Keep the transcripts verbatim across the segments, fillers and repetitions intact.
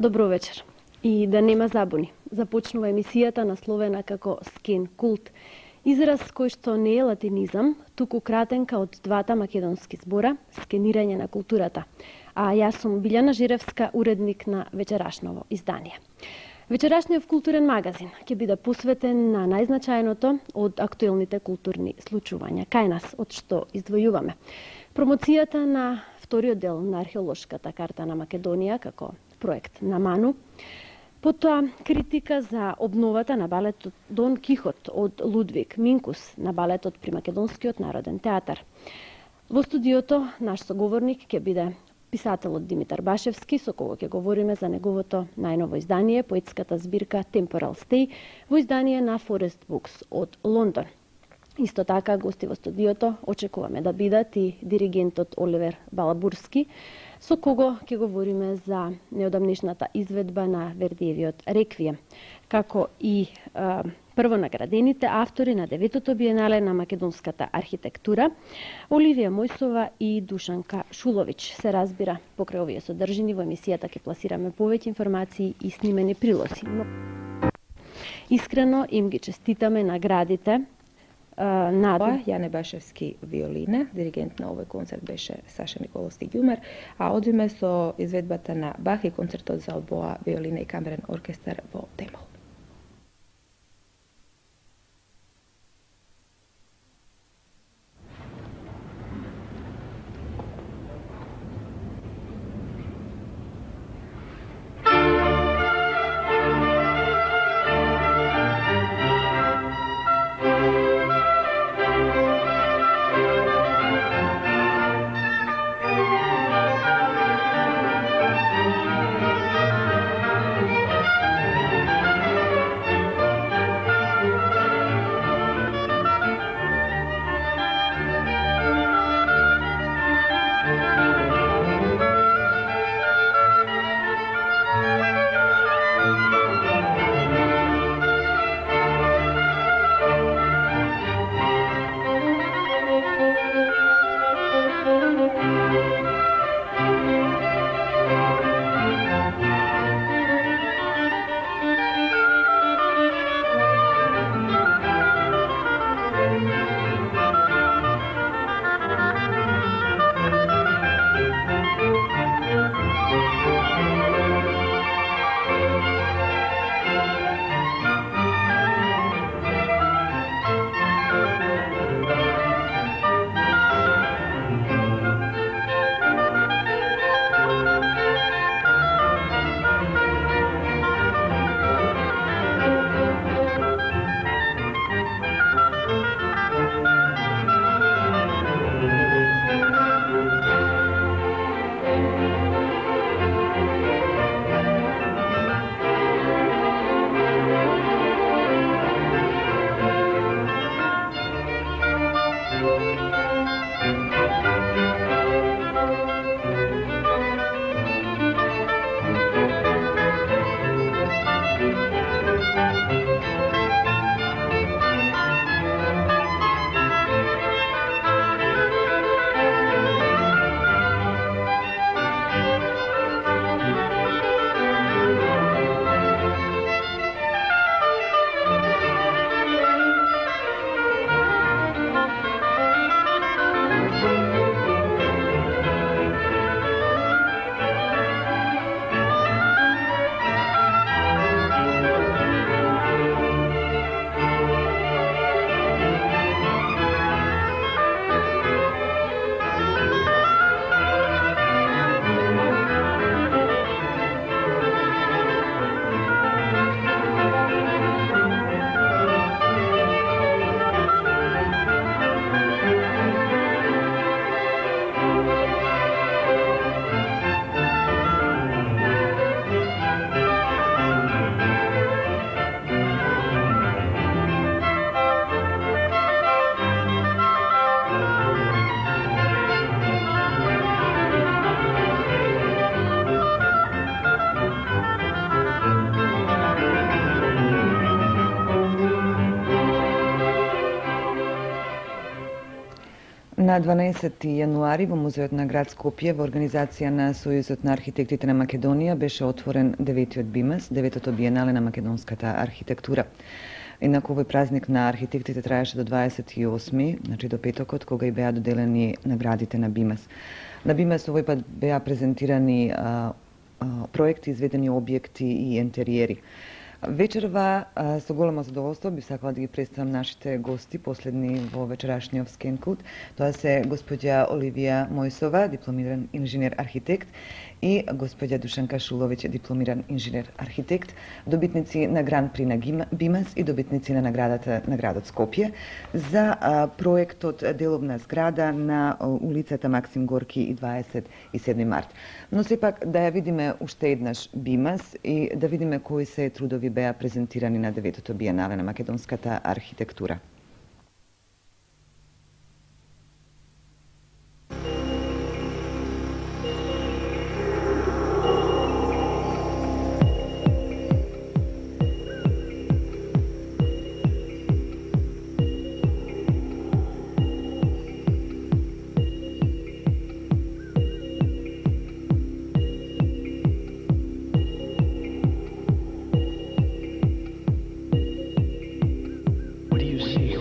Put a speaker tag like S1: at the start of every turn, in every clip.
S1: Добро вечер. И да нема забуни. Започнува емисијата насловена како Скен култ. Израз кој што не е латинизам, туку кратенка од двата македонски збора скенирање на културата. А јас сум Билјана Жиревска, уредник на вечерашново издание. Вечерашниот културен магазин ќе биде посветен на најзначајното од актуелните културни случувања кај нас, од што издвојуваме. Промоцијата на вториот дел на археолошката карта на Македонија како проект на Ману, потоа критика за обновата на балетот Дон Кихот од Лудвиг Минкус на балетот при Македонскиот народен театар. Во студиото наш соговорник ќе биде писателот Димитар Башевски, со кого ќе говориме за неговото најново издание, поетската збирка Temporal Stay, во издание на Forest Books од Лондон. Исто така, гости во студиото очекуваме да бидат и диригентот Оливер Балабурски, со кого ќе говориме за неодамнешната изведба на Вердиевиот Реквием, како и е, првонаградените автори на деветото биенале на македонската архитектура, Оливија Мојсова и Душанка Шулович. Се разбира, покрај овие содржини во емисијата ќе пласираме повеќе информации и снимени прилози. Но искрено им ги честитаме наградите на
S2: Јане Башевски виолина, диригент на овој концерт беше Саша Николовски Ѓумер, а одиме со изведбата на Бах и концертот за обоа, виолина и камерен оркестар во Темол.
S3: На дванаесети јануари во Музеот на град Скопје во организација на Сојузот на архитектите на Македонија беше отворен деветиот БИМАС, деветото биенале на македонската архитектура. Инаку овој празник на архитектите траеше до дваесет и осми, значи до петокот, кога и беа доделени наградите на БИМАС. На БИМАС овој пат беа презентирани а, а, проекти, изведени објекти и интериери. Вечерва со големо задоволство би сакала да ги представам нашите гости, последни во вечерашниот Skin Cult. Тоа се господја Оливија Мојсова, дипломиран инженер-архитект, и господја Душанка Шуловиќ, дипломиран инженер-архитект, добитници на Гран При на БИМАС и добитници на наградата на градот Скопје за а, проектот деловна зграда на улицата Максим Горки и дваесет и седми март. Но сепак да ја видиме уште еднаш БИМАС и да видиме кои се трудови беа презентирани на деветото биенале на македонската архитектура.
S4: What do you see?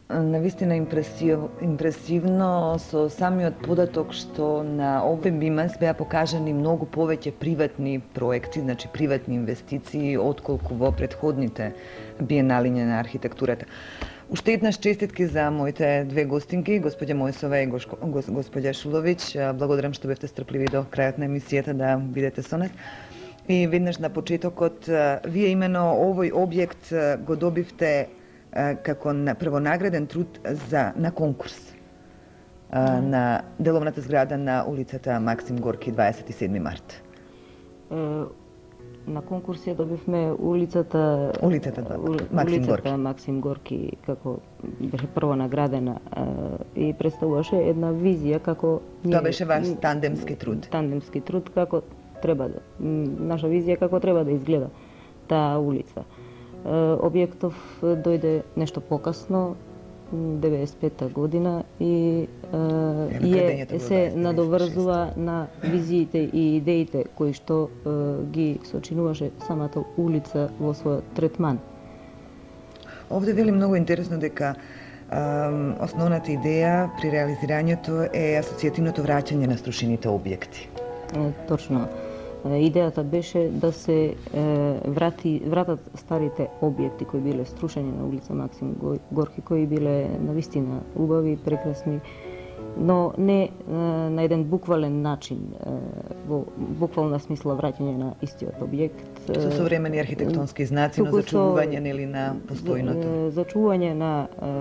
S3: Навистина импресив, импресивно со самиот податок што на овој бимас беа покажани многу повеќе приватни проекти, значи приватни инвестиции, отколку во претходните биеналиња на архитектурата. Уште еднаш честитки за моите две гостинки, господја Мојсова и господја Шуловиќ. Благодарам што бевте стрпливи до крајот на емисијата да бидете со нас. И веднаш на почетокот, вие имено овој објект го добивте како првонаграден труд за на конкурс а, на деловната зграда на улицата Максим Горки дваесет и седми март.
S4: Е, на конкурс ја добивме улицата
S3: улицата Максим
S4: улицата
S3: Горки.
S4: Максим Горки како беше прво наградена е, и представуваше една визија како
S3: Тоа беше ваш тандемски труд.
S4: Тандемски труд како треба да наша визија како треба да изгледа таа улица. Објектов дојде нешто покасно, деветдесет и пета година и е, е се надоврзува на визиите и идеите кои што е, ги сочинуваше самата улица во својот третман.
S3: Овде вели многу интересно дека а, основната идеја при реализирањето е асоцијативното враќање на струшените објекти.
S4: Е, точно. Идејата беше да се е, врати, вратат старите објекти кои биле струшени на улица Максим Горки, кои биле навистина убави, прекрасни, но не е, на еден буквален начин, е, во буквална смисла враќање на истиот објект.
S3: Со современи архитектонски знаци, но зачувување нели на постојното.
S4: Зачувување на е,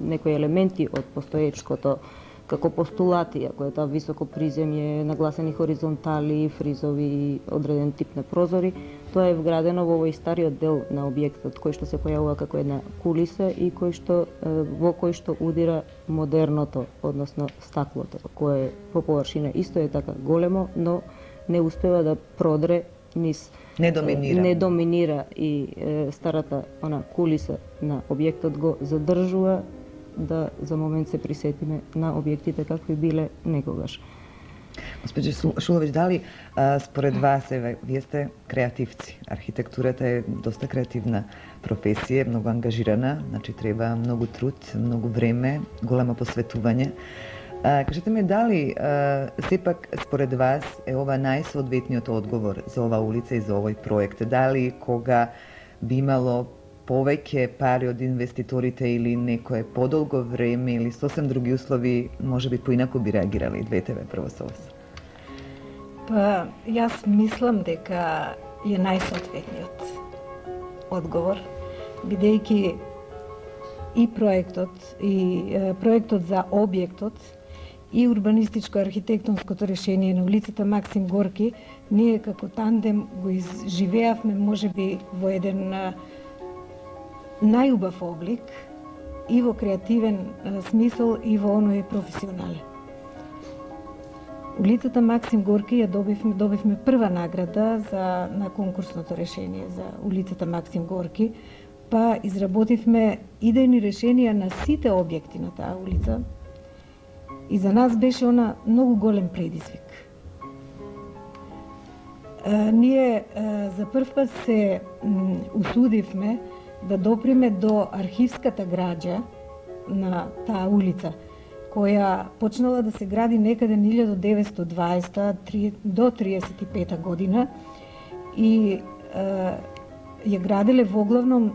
S4: некои елементи од постоечкото, како постулати, ако е таа високо приземје, нагласени хоризонтали, фризови, одреден тип на прозори, тоа е вградено во овој стариот дел на објектот, кој што се појавува како една кулиса и кој што, во кој што удира модерното, односно стаклото, кое по површина исто е така големо, но не успева да продре низ
S3: не доминира.
S4: Не доминира и е, старата она кулиса на објектот го задржува да за момент се присетиме на објектите какви биле некогаш.
S3: Господи Шуловиќ, дали а, според вас, еве, вие сте креативци. Архитектурата е доста креативна професија, многу ангажирана, значи треба многу труд, многу време, големо посветување. А, кажете ми, дали а, сепак според вас е ова најсоодветниот одговор за ова улица и за овој проект? Дали кога би имало повеќе пари од инвеститорите или некое подолго време или сосем други услови, може би поинаку би реагирали двете ве прво со вас?
S5: Па, јас мислам дека е најсоодветниот одговор, бидејќи и проектот, и е, проектот за објектот, и урбанистичко-архитектонското решение на улицата Максим Горки, ние како тандем го изживеавме можеби во еден најубав облик и во креативен а, смисол и во оној професионален. Улицата Максим Горки ја добивме, добивме прва награда за на конкурсното решение за улицата Максим Горки, па изработивме идејни решенија на сите објекти на таа улица и за нас беше она многу голем предизвик. А, ние а, за прв пат се м, усудивме да доприме до архивската граѓа на таа улица, која почнала да се гради некаде илјадум деветстотини и дваесета до триесет и пета година и е, ја граделе воглавном е,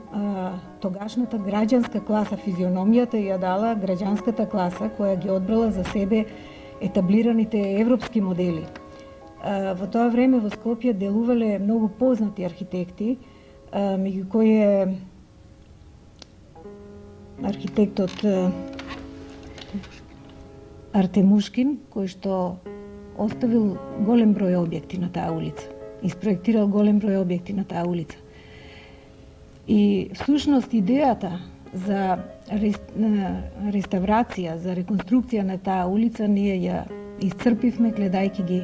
S5: тогашната граѓанска класа. Физиономијата ја дала граѓанската класа која ги одбрала за себе етаблираните европски модели. Е, во тоа време во Скопје делувале многу познати архитекти, меѓу кои е архитектот Артемушкин, кој што оставил голем број објекти на таа улица, испроектирал голем број објекти на таа улица. И всушност идејата за реставрација, за реконструкција на таа улица ние ја исцрпивме гледајќи ги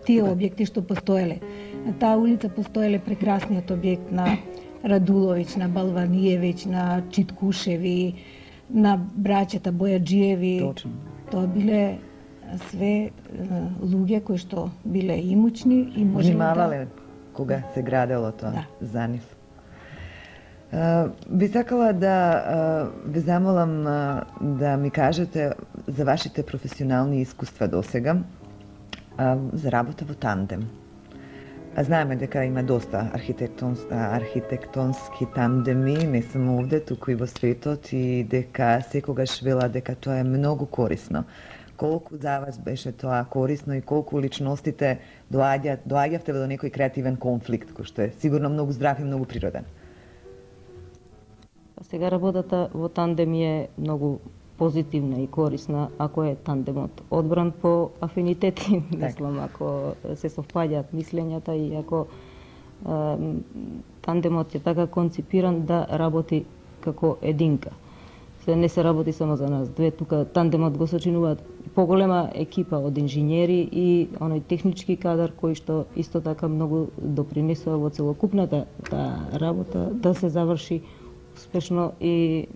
S5: тие објекти што постоеле. На таа улица постоеле прекрасниот објект на Радуловиќ, на Балваниевиќ, на Читкушеви, на браќата Бојаджиеви.
S3: Точно.
S5: Тоа биле све луѓе кои што биле имучни и можеле
S3: внимавале да... кога се градело тоа
S5: да.
S3: за нив. Би сакала да ве замолам да ми кажете за вашите професионални искуства досега за работа во тандем. Знаеме дека има доста архитектонс, архитектонски тандеми, не само овде, туку и во светот, и дека секогаш вела дека тоа е многу корисно. Колку за вас беше тоа корисно и колку личностите доаѓа, доаѓавте до некој креативен конфликт, кој што е сигурно многу здрав и многу природен?
S4: Сега работата во тандем е многу позитивна и корисна ако е тандемот одбран по афинитети, мислам, ако се совпаѓаат мислењата и ако е, тандемот е така конципиран да работи како единка. Се не се работи само за нас две, тука тандемот го сочинуваат поголема екипа од инженери и оној технички кадар кој што исто така многу допринесува во целокупната таа работа да се заврши успешно и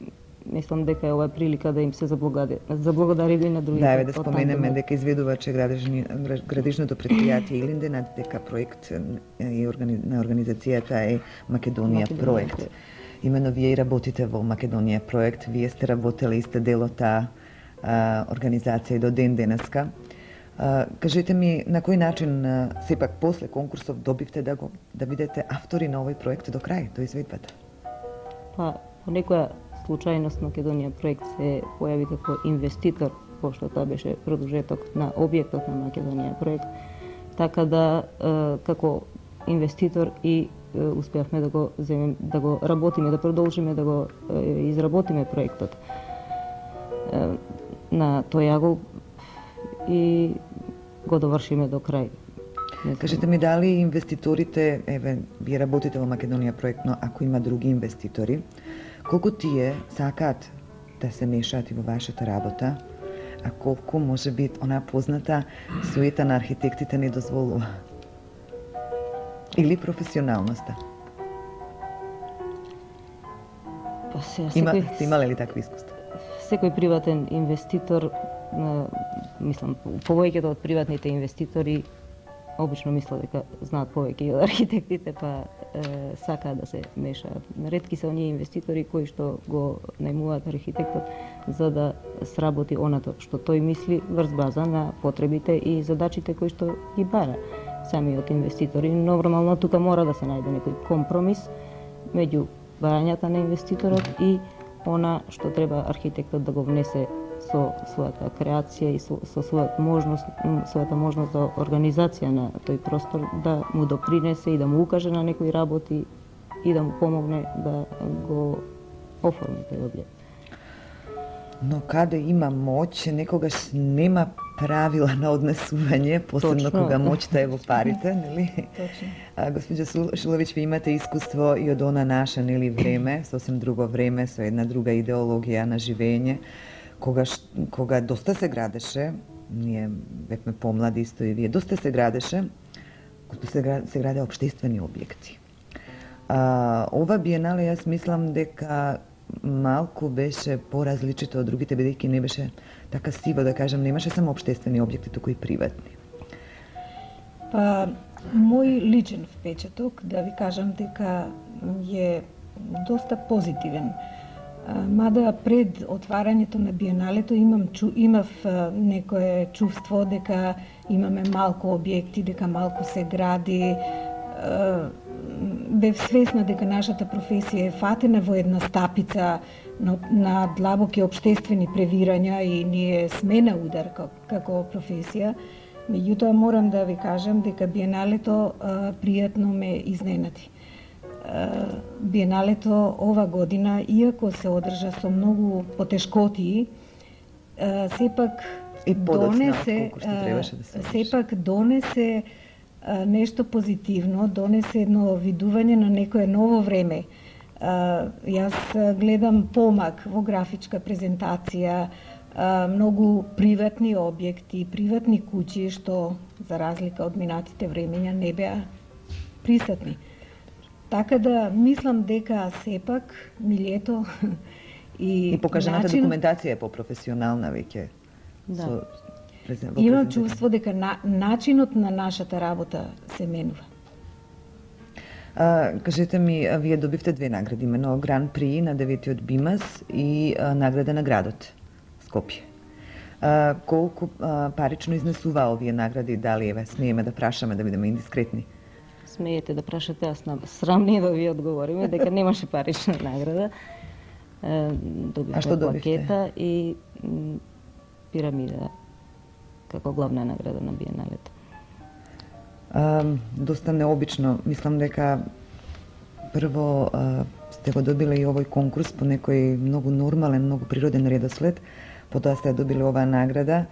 S4: мислам дека е ова прилика да им се заблагодари, заблагодари и на другите.
S3: Да, да споменеме дека изведуваче градежни, градежното предпријатие Илинден, дека проект и органи, на организацијата е Македонија, Македонија проект. проект. Имено вие и работите во Македонија проект, вие сте работели и сте дел од таа организација и до ден денеска. А, кажете ми на кој начин а, сепак после конкурсов добивте да го да бидете автори на овој проект до крај, до изведбата?
S4: Па, по некоја случајност Македонија проект се појави како инвеститор, пошто тоа беше продолжеток на објектот на Македонија проект, така да е, како инвеститор и е, успеавме да го земем, да го работиме, да продолжиме да го е, изработиме проектот е, на тој агол и го довршиме до крај.
S3: Кажете ми дали инвеститорите, еве, вие работите во Македонија проект, но ако има други инвеститори, колку тие сакаат да се мешаат и во вашата работа, а колку може би она позната суета на архитектите не дозволува? Или професионалноста?
S4: Па се,
S3: Има,
S4: секој,
S3: сте имале ли такви искуства?
S4: Секој приватен инвеститор, мислам, повеќето од приватните инвеститори обично мислат дека знаат повеќе од архитектите, па е, сакаат да се мешаат. Ретки се оние инвеститори кои што го најмуваат архитектот за да сработи оното што тој мисли врз база на потребите и задачите кои што ги бара самиот инвеститори. Нормално тука мора да се најде некој компромис меѓу барањата на инвеститорот и она што треба архитектот да го внесе со својата креација и со, со својата можност, својата можност за организација на тој простор, да му допринесе и да му укаже на некои работи и да му помогне да го оформи тој објект.
S3: Но каде има моќ, некогаш нема правила на однесување, посебно Точно. Кога моќта е во парите, нели?
S4: Точно.
S3: А, госпоđа Шиловиќ, ви имате искуство и од она наше, нели, време, сосем друго време, со една друга идеологија на живење, кога, кога доста се градеше, ние бевме помлади исто и вие, доста се градеше, кога се, се граде општествени објекти. А, ова биенале, јас мислам дека малку беше поразличито од другите, бидејќи не беше така сиво, да кажам, немаше само општествени објекти, туку и приватни.
S5: Па, мој личен впечаток, да ви кажам дека е доста позитивен. Мада пред отварањето на биеналето имам чу, имав некое чувство дека имаме малку објекти, дека малку се гради. Бев свесна дека нашата професија е фатена во една стапица на, на длабоки општествени превирања и ние сме на удар како, како професија. Меѓутоа морам да ви кажам дека биеналето а, пријатно ме изненади. А, биеналето ова година, иако се одржа со многу потешкотии, а, сепак
S3: и
S5: донесе,
S3: да
S5: сепак донесе а, нешто позитивно, донесе едно видување на некое ново време. А, јас гледам помак во графичка презентација, а, многу приватни објекти, приватни куќи што за разлика од минатите времења не беа присутни. Така да мислам дека сепак милјето и
S3: И покажаната
S5: начин...
S3: документација е попрофесионална веќе.
S4: Да.
S3: Со презент...
S5: Имам чувство дека на... начинот на нашата работа се менува.
S3: А, кажете ми, вие добивте две награди, имено Гран При на деветиот Бимас и а, награда на градот Скопје. А, колку а, парично изнесува овие награди, дали еве смееме да прашаме, да бидеме индискретни?
S4: Смеете да прашате, аз на срамни да ви одговориме дека немаше парична награда. Добивме
S3: а што добивте?
S4: Плакета и м, пирамида како главна награда на биеналето.
S3: А, доста необично. Мислам дека прво а, сте го добиле и овој конкурс по некој многу нормален, многу природен редослед, потоа сте добиле оваа награда.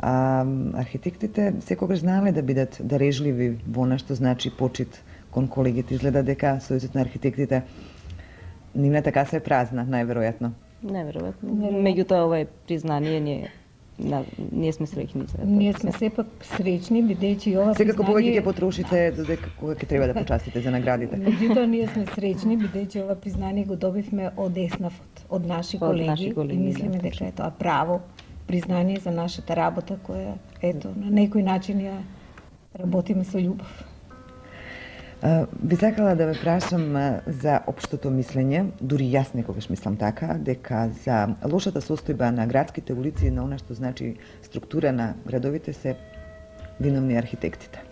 S3: А архитектите секогаш знаеле да бидат дарежливи во она што значи почит кон колегите. Изгледа дека Сојузот на архитектите нивната каса е празна, најверојатно.
S4: Неверојатно. Меѓутоа ова е признание, ние на, ние сме среќни за тоа.
S5: Ние сме сепак среќни, бидејќи ова
S3: Секако
S5: признание...
S3: повеќе ќе потрошите додека кога ќе треба да почастите за наградите.
S5: Меѓутоа ние сме среќни, бидејќи ова признание го добивме од ЕСНАФ, од наши
S4: Од
S5: колеги,
S4: наши колеги,
S5: и мислиме
S4: да,
S5: дека е тоа право признание за нашата работа, која, ето, на некој начин ја работиме со љубов.
S3: А, би сакала да ве прашам а, за општото мислење, дури јас некогаш мислам така, дека за лошата состојба на градските улици и на она што значи структура на градовите се виновни архитектите.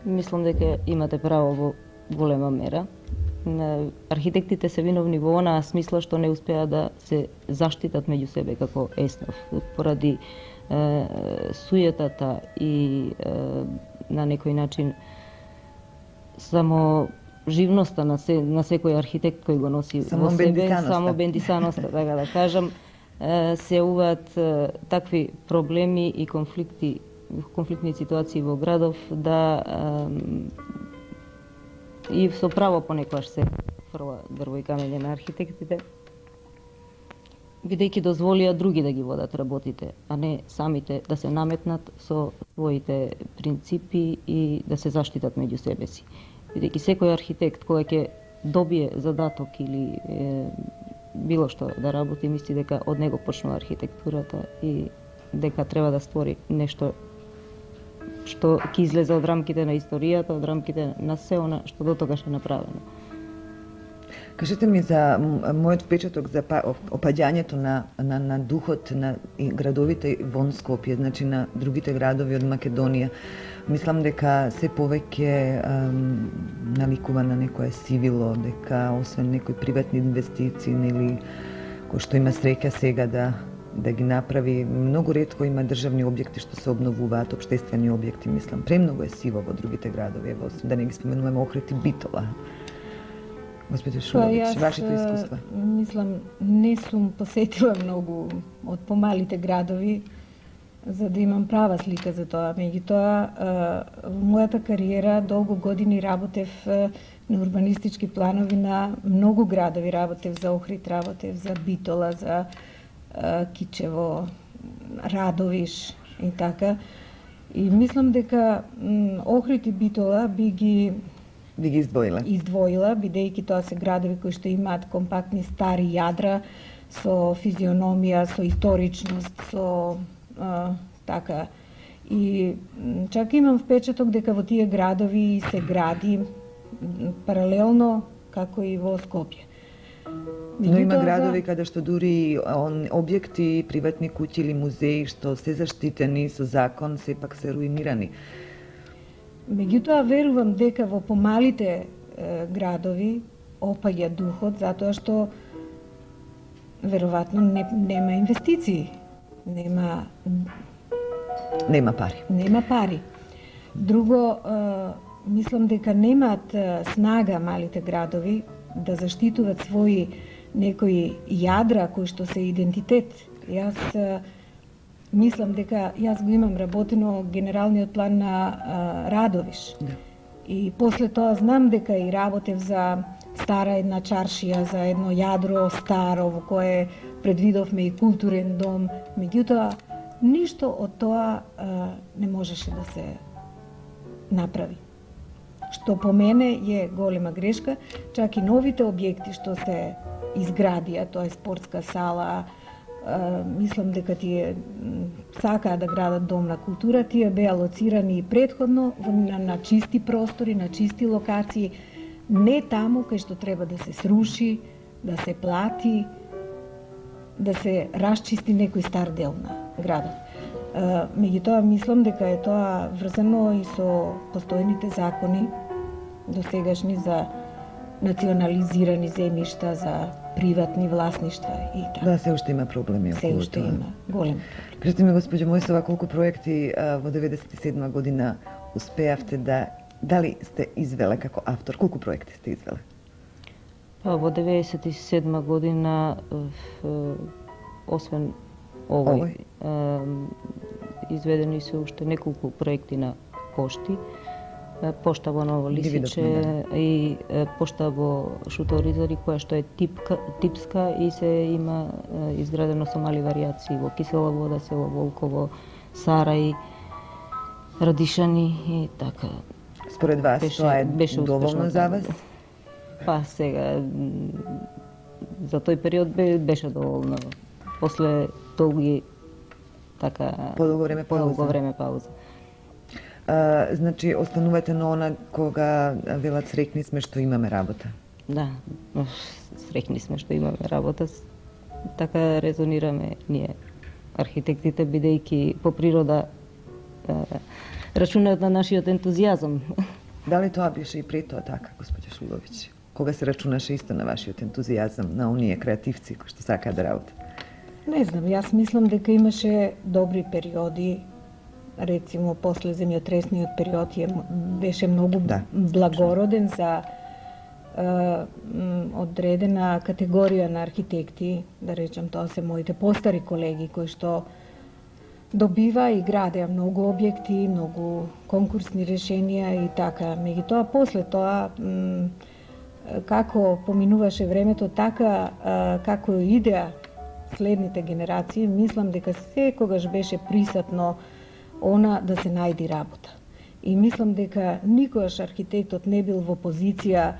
S4: Мислам дека имате право во голема мера. Архитектите се виновни во онаа смисла што не успеа да се заштитат меѓу себе како ЕСНАФ поради е, суетата и е, на некој начин само живноста на, се, на секој архитект кој го носи
S3: само
S4: во себе,
S3: бендисаноста.
S4: само бендисаноста, така да кажам, е, се уваат е, такви проблеми и конфликти, конфликтни ситуации во градов да е, и со право понекогаш се фрла дрво и камење на архитектите, бидејќи дозволија други да ги водат работите, а не самите да се наметнат со своите принципи и да се заштитат меѓу себе си. Бидејќи секој архитект кој ќе добие задаток или е, било што да работи, мисли дека од него почнува архитектурата и дека треба да створи нешто што ќе излезе од рамките на историјата, од рамките на се она што до тогаш е направено.
S3: Кажете ми за мојот впечаток за опаѓањето на, на, на духот на градовите вон Скопје, значи на другите градови од Македонија. Мислам дека се повеќе ем, наликува на некое сивило, дека освен некои приватни инвестиции или кој што има среќа сега да да ги направи, многу ретко има државни објекти што се обновуваат, општествени објекти, мислам. Премногу е сиво во другите градови, ево, да не ги споменуваме Охрид и Битола. Господи Шулович, вашето искуство?
S5: Мислам, не сум посетила многу од помалите градови, за да имам права слика за тоа. Меѓутоа, во мојата кариера долго години работев на урбанистички планови на многу градови. Работев за Охрид, работев за Битола, за Кичево, Радовиш и така. И мислам дека Охрид и Битола би ги
S3: би ги издвоила.
S5: Издвоила, бидејќи тоа се градови кои што имаат компактни стари јадра со физиономија, со историчност, со а, така. И чак имам впечаток дека во тие градови се гради паралелно како и во Скопје.
S3: Но има градови каде што дури он, објекти, приватни куќи или музеи што се заштитени со закон, сепак се руинирани.
S5: Меѓутоа верувам дека во помалите е, градови опаѓа духот затоа што веројатно не, нема инвестиции, нема
S3: нема пари.
S5: Нема пари. Друго, е, мислам дека немаат е, снага малите градови да заштитуваат своји некои јадра кои што се идентитет. Јас е, мислам дека јас го имам работено генералниот план на а, Радовиш.
S3: Да.
S5: И после тоа знам дека и работев за стара една чаршија, за едно јадро старо во кое предвидовме и културен дом. Меѓутоа, ништо од тоа а, не можеше да се направи. Што по мене е голема грешка, чак и новите објекти што се изградија, тоа е спортска сала, мислам дека тие сакаа да градат дом на култура, тие беа лоцирани предходно на, на чисти простори, на чисти локации, не таму кај што треба да се сруши, да се плати, да се расчисти некој стар дел на градот. Меѓутоа, мислам дека е тоа врзано и со постојните закони досегашни за национализирани земјишта, за приватни власништва и така.
S3: Да, се уште има проблеми околу тоа.
S5: Се уште има голем.
S3: Кажете ми, госпоѓо Мојсова, колку проекти а, во деветдесет и седма година успеавте да... Дали сте извеле како автор? Колку проекти сте извеле?
S4: Па, во деветдесет и седма година, освен овој, овој? изведени се уште неколку проекти на пошти. Пошта во Ново Лисиче да. И пошта во Шуторизари, која што е типка, типска и се има изградено со мали варијации во Кисела Вода, село Волково, Сарај, Радишани и така.
S3: Според вас
S4: беше,
S3: тоа е
S4: беше
S3: доволно за вас?
S4: Па сега, за тој период беше доволно. После долги така
S3: подолго време пауза.
S4: Подолго време пауза.
S3: А, значи, останувате на она кога велат среќни сме што имаме работа.
S4: Да, среќни сме што имаме работа. Така резонираме ние, архитектите, бидејќи по природа рачунаат на нашиот ентузијазам.
S3: Дали тоа беше и пред тоа така, господја Шуловиќ? Кога се рачунаше исто на вашиот ентузијазам, на оние креативци кои што сакаат да работат?
S5: Не знам, јас мислам дека имаше добри периоди, рецимо после земјотресниот период е, беше многу да, благороден за е, одредена категорија на архитекти, да речем тоа се моите постари колеги кои што добива и градеа многу објекти, многу конкурсни решенија и така. Меѓутоа после тоа м, како поминуваше времето, така а, како идеа следните генерации, мислам дека секогаш беше присатно она да се најди работа. И мислам дека никогаш архитектот не бил во позиција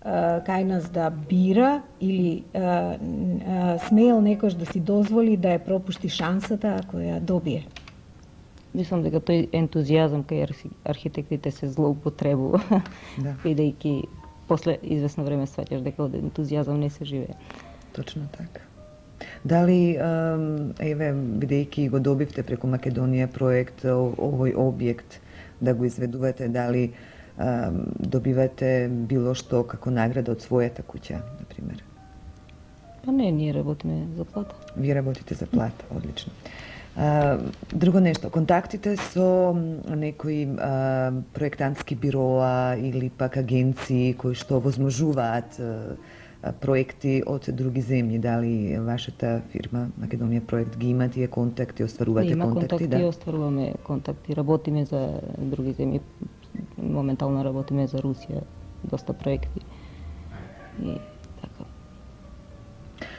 S5: а, кај нас да бира или а, а, смеел некош да си дозволи да ја пропушти шансата ако ја добие.
S4: Мислам дека тој ентузијазам кај архитектите се злоупотребува, да. Бидејќи после известно време сваќаш дека од ентузијазам не се живее.
S3: Точно така. Дали, еве, бидејќи го добивте преку Македонија проект, овој објект да го изведувате, дали добивате било што како награда од својата куќа, например?
S4: Па не, ние работиме за плата.
S3: Вие работите за плата, одлично. Друго нешто, контактите со некои проектантски бироа или пак агенции кои што возможуваат проекти од други земји, дали вашата фирма Македонија проект ги има тие контакти, остварувате
S4: има
S3: контакти?
S4: Контакти,
S3: да,
S4: остваруваме контакти, работиме за други земји, моментално работиме за Русија, доста проекти. И така.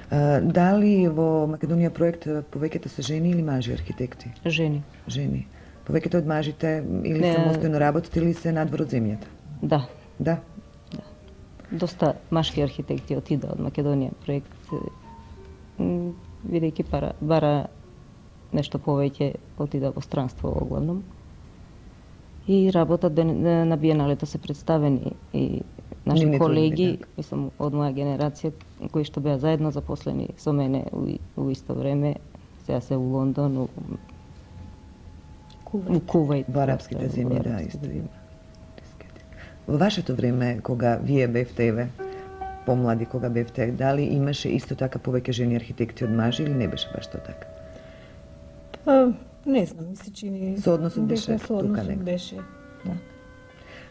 S3: А, дали во Македонија проект повеќето се жени или мажи архитекти?
S4: Жени.
S3: Жени. Повеќето од мажите или
S4: Не...
S3: самостојно работат или се надвор од земјата?
S4: Да.
S3: Да.
S4: Доста машки архитекти отида од Македонија проект, бидејќи пара, бара нешто повеќе, отида во странство оглавном. И работат на биеналето се представени и наши
S3: Нивните
S4: колеги,
S3: одби,
S4: мислам, од моја генерација, кои што беа заедно запослени со мене у исто време, сега се у Лондон, у
S5: Кувајт.
S4: Кувајт.
S3: Во арапските земји, да, исто има. Во вашето време, кога вие бевте, еве, помлади, кога бевте, дали имаше исто така повеќе жени архитекти од мажи или не беше баш тоа така?
S5: Па, не знам, ми се чини...
S3: Соодносот беше
S5: дека соодносот
S3: тука некако.
S5: беше, да.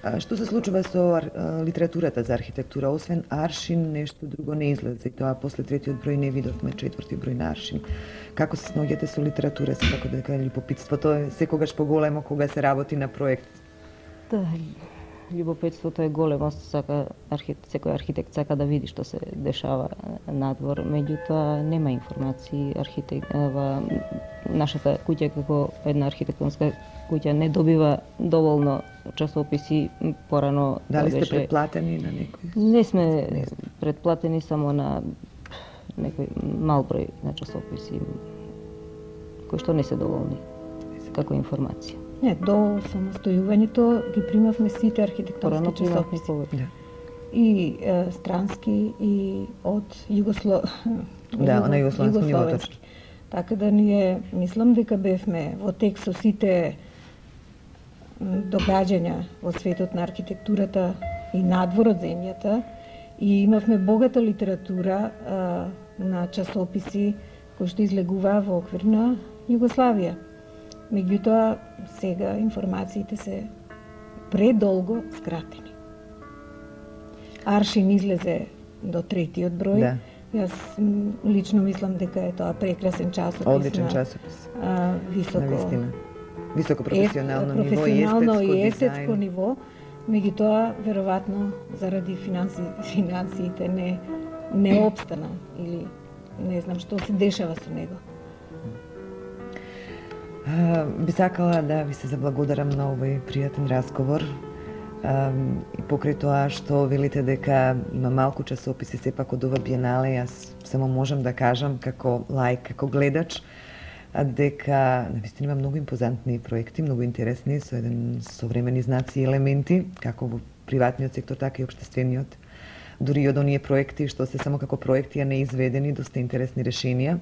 S3: А, што се случува со ар, литературата за архитектура? Освен Аршин, нешто друго не излезе. И тоа после третиот број не видовме четврти број на Аршин. Како се сноѓате со литература? Секако дека љубопитството е секогаш поголемо кога се работи на проект.
S4: Да, љубопитството е големо, сака архитект, секој архитект сака да види што се дешава надвор, меѓутоа нема информации. Архитект, ва, нашата куќа како една архитектонска куќа не добива доволно часописи порано.
S3: Дали сте
S4: беше...
S3: предплатени на некој?
S4: Не сме не предплатени, само на некој мал број на часописи кои што не се доволни како информација.
S5: Не, до самостојувањето ги примавме сите архитектонски часописи.
S3: Да.
S5: И е, странски, и од Југосло...
S3: Да, на југословенски ниво точно.
S5: Така да ние, мислам дека бевме во тек со сите догаѓања во светот на архитектурата и надвор од земјата, и имавме богата литература а, на часописи кои што излегуваа во оквир на Југославија. Меѓутоа, сега информациите се предолго скратени. Аршин излезе до третиот број.
S3: Да.
S5: Јас лично мислам дека е тоа прекрасен часопис.
S3: Одличен
S5: на,
S3: часопис.
S5: А, високо,
S3: Навистина. Високо професионално
S5: е,
S3: ниво
S5: професионално
S3: и
S5: и
S3: естетско
S5: естетско
S3: дизајн.
S5: ниво. Меѓутоа, веројатно, заради финанси, финансиите не, не обстана или не знам што се дешава со него.
S3: А, би сакала да ви се заблагодарам на овој пријатен разговор. А, и покрај тоа што велите дека има малку часописи сепак од ова биенале, јас само можам да кажам како лаик, како гледач, дека навистина има многу импозантни проекти, многу интересни, со еден современи знаци и елементи, како во приватниот сектор, така и општествениот. Дури и од оние проекти што се само како проекти, а не изведени, доста интересни решенија.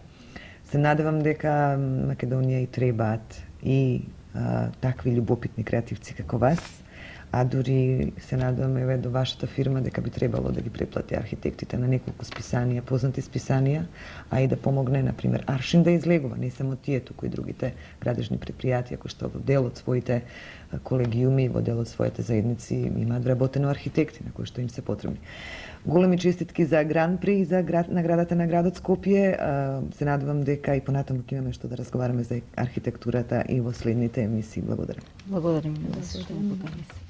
S3: Се надевам дека Македонија и требаат и а, такви љубопитни креативци како вас, а дури се надевам еве до вашата фирма дека би требало да ги преплати архитектите на неколку списанија, познати списанија, а и да помогне, например, Аршин да излегува, не само тие, туку и другите градежни предпријатија кои што во дел од своите колегиуми, во дел од своите заедници имаат вработено архитекти на кои што им се потребни. Големи честитки за Гран При и за град, наградата на градот Скопје. Се надевам дека и понатаму ќе имаме што да разговараме за архитектурата и во следните емисии. Благодарам.
S4: Благодарим за се.